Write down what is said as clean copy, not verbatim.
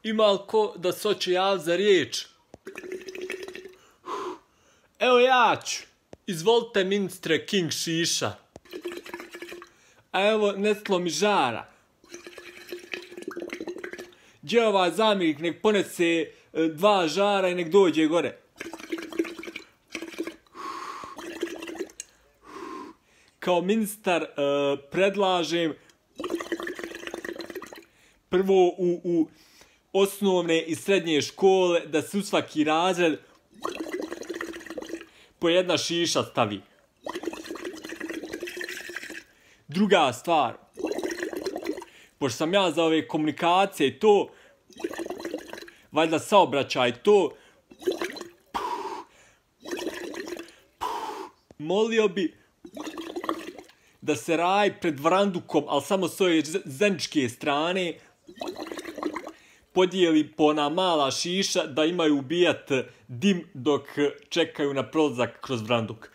Ima li ko da se hoće javiti za riječ? Evo ja ću. Izvolite ministre King Šiša. A evo Neslo mi žara. Gdje ovaj zamjenik nek ponese 2 žara i nek dođe gore. Kao ministar predlažem prvo u osnovne i srednje škole da se u svaki razred po 1 šiša stavi. Druga stvar, pošto sam ja za ove komunikacije i to, valjda saobraćaj to, molio bi da se raj pred Vrandukom, ali samo s ove zeničke strane, podijeli po ona mala šiša da imaju ubijat dim dok čekaju na prolazak kroz Vranduk.